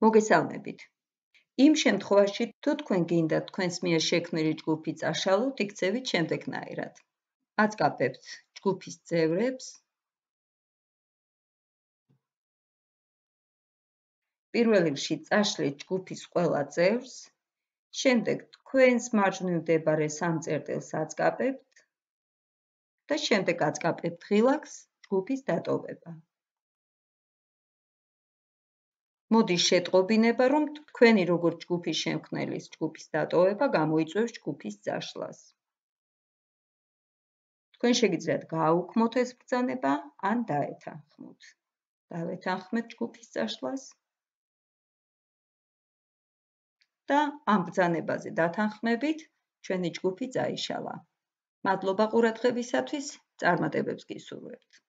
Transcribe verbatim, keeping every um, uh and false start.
მოგესალმებით. იმ შემთხვევაში, თუ თქვენ გინდათ თქვენს მიერ შექმნილი ჯგუფი წაშალოთ, იქცევით შემდეგნაირად. აწყაბებთ ჯგუფის წევრებს. პირველ რიგში წაშლით ჯგუფის ყველა წევრს, შემდეგ თქვენს მარჯვნივ მდებარე სამ წერტილს აწყაბებთ და შემდეგ აწყაბებთ ღილაკს ჯგუფის დატოვება. მოდის შეტყობინება, რომ თქვენი როგორც ჯგუფის შემქმნელის ჯგუფის დატოვება გამოიწვევს ჯგუფის წაშლას. თქვენ შეგიძლიათ გააუქმოთ ეს ბრძანება ან დაეთანხმოთ. დავეთანხმეთ ჯგუფის წაშლას და ამ ბრძანებაზე დათანხმებით ჩვენი ჯგუფი წაიშალა. მადლობა ყურადღებისათვის, წარმატებებს გისურვებთ.